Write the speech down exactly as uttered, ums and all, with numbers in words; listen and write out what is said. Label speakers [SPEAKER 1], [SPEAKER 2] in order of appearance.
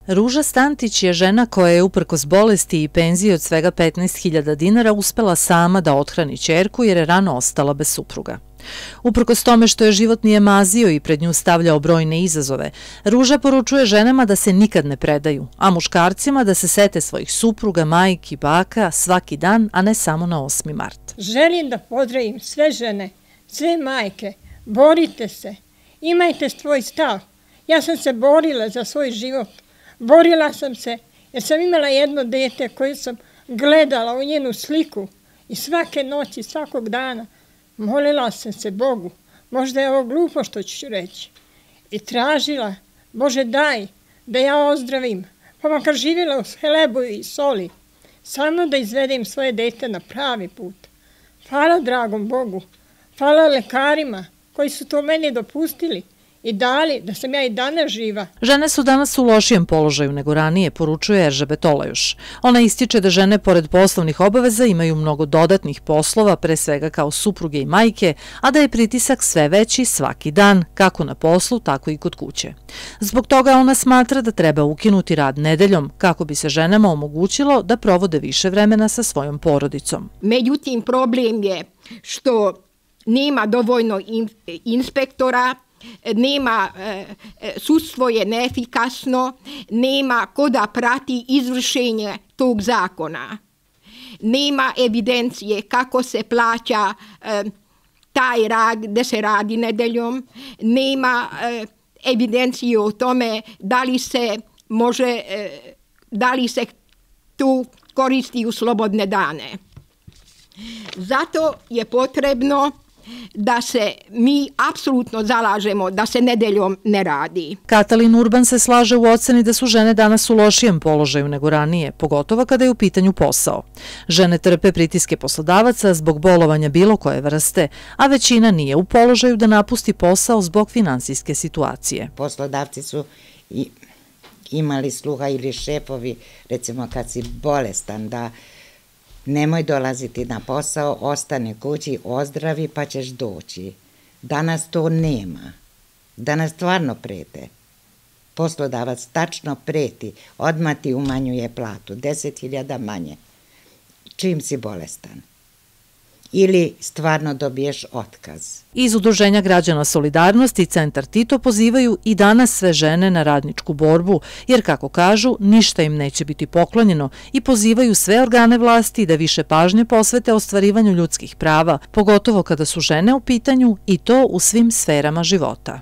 [SPEAKER 1] Ruža Stantić je žena koja je uprkos bolesti i penziji od svega petnaest hiljada dinara uspela sama da othrani ćerku jer je rano ostala bez supruga. Uprkos tome što je život nije mazio i pred nju stavljao brojne izazove, Ruža poručuje ženama da se nikad ne predaju, a muškarcima da se sete svojih supruga, majki, baka svaki dan, a ne samo na osmi mart.
[SPEAKER 2] Želim da pozdravim sve žene, sve majke, borite se, imajte svoj stav. Ja sam se borila za svoj život, borila sam se jer sam imala jedno dete koje sam gledala u njenu sliku i svake noći, svakog dana molila sam se Bogu, možda je ovo glupo što ću reći, i tražila, Bože daj da ja ozdravim, pa makar živjela u hlebu i soli, samo da izvedem svoje dete na pravi put. Hvala dragom Bogu, hvala lekarima koji su to meni dopustili i dali da sam ja i danas živa.
[SPEAKER 1] Žene su danas u lošijem položaju nego ranije, poručuje Eržebet Olajuš. Ona ističe da žene pored poslovnih obaveza imaju mnogo dodatnih poslova, pre svega kao supruge i majke, a da je pritisak sve veći svaki dan, kako na poslu, tako i kod kuće. Zbog toga ona smatra da treba ukinuti rad nedeljom, kako bi se ženama omogućilo da provode više vremena sa svojom porodicom.
[SPEAKER 3] Međutim, problem je što nema dovoljno inspektora, nema, sudstvo je neefikasno, nema ko da prati izvršenje tog zakona. Nema evidencije kako se plaća taj rad gde se radi nedeljom, nema evidencije o tome da li se može, da li se tu koristi u slobodne dane. Zato je potrebno da se mi apsolutno zalažemo da se nedeljom ne radi.
[SPEAKER 1] Katalin Urban se slaže u oceni da su žene danas u lošijem položaju nego ranije, pogotovo kada je u pitanju posao. Žene trpe pritiske poslodavaca zbog bolovanja bilo koje vrste, a većina nije u položaju da napusti posao zbog finansijske situacije.
[SPEAKER 4] Poslodavci su imali sluha ili šefovi, recimo kad si bolestan, da nemoj dolaziti na posao, ostani kući, ozdravi pa ćeš doći. Danas to nema. Danas stvarno prete. Poslodavac tačno preti, odmah ti umanjuje platu, deset hiljada manje. Čim si bolestan. Ili stvarno dobiješ otkaz.
[SPEAKER 1] Iz Udruženja građana Solidarnost i Centar Tito pozivaju i danas sve žene na radničku borbu, jer kako kažu, ništa im neće biti poklonjeno i pozivaju sve organe vlasti da više pažnje posvete ostvarivanju ljudskih prava, pogotovo kada su žene u pitanju i to u svim sferama života.